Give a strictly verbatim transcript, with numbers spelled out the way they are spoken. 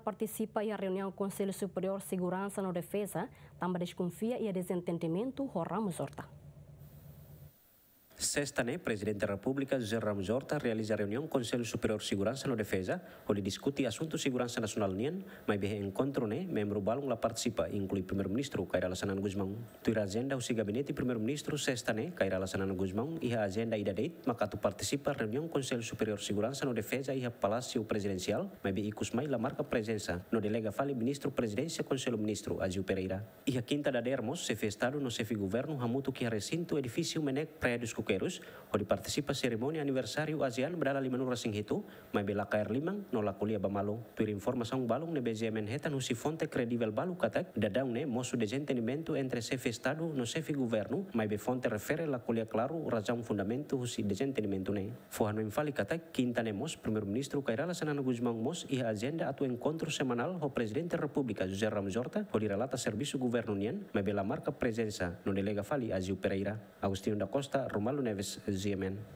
Partisipa iha reuniaun Konsellu Superiór Seguransa no Defeza, tanba deskonfia iha dezentendimentu ho Ramos Horta. Sesta ne'e, Prezidente Repúblika José Ramos Horta realiza reuniaun Konsellu Superiór Seguransa no Defeza, hodi diskute asuntu seguransa nasionál nian, maibé enkontru ne'e membru balun la partisipa, inklui Primeiru-Ministru Kay Rala Xanana Gusmão. Tuir ajenda husi Gabinete Primeiru-Ministru, sesta ne'e, Kay Rala Xanana Gusmão iha ajenda ida de'it, maka atu partisipa reuniaun Konsellu Superiór Seguransa no Defeza iha Palásiu Prezidensiál, maibé ikus mai la marka prezensa, no delega fali Ministru Prezidénsia Konsellu Ministru, Azeu Pereira. Iha kinta dadeer mós, Xefe Estadu no Xefe Governu hamutuk iha resintu edifísiu MNEK Praia dos Coqueiros, hodi partisipa serimónia aniversáriu ASEAN ba dala limanulu-resin-hitu, maibé la kaer liman no la ko'alia ba malu. Tuir informasaun balun ne'ebé GMN hetan husi fonte kredivel balu katak, daudaun ne'e mosu dezentendimentu entre Xefe Estadu no Xefe Governu, maibé fonte refere la ko'alia klaru razaun fundamentu husi dezentendimentu ne'e. Fó hanoin fali katak, kinta ne'e mós, Primeiru-Ministru Kay Rala Xanana Gusmão mós iha ajenda atu enkontru semanál ho Prezidente Repúblika José Ramos Horta, hodi relata servisu governu nian, maibé la marka prezensa, no delega fali Azeu Pereira. Agostinho da Costa, Romualdo Neves, GMN.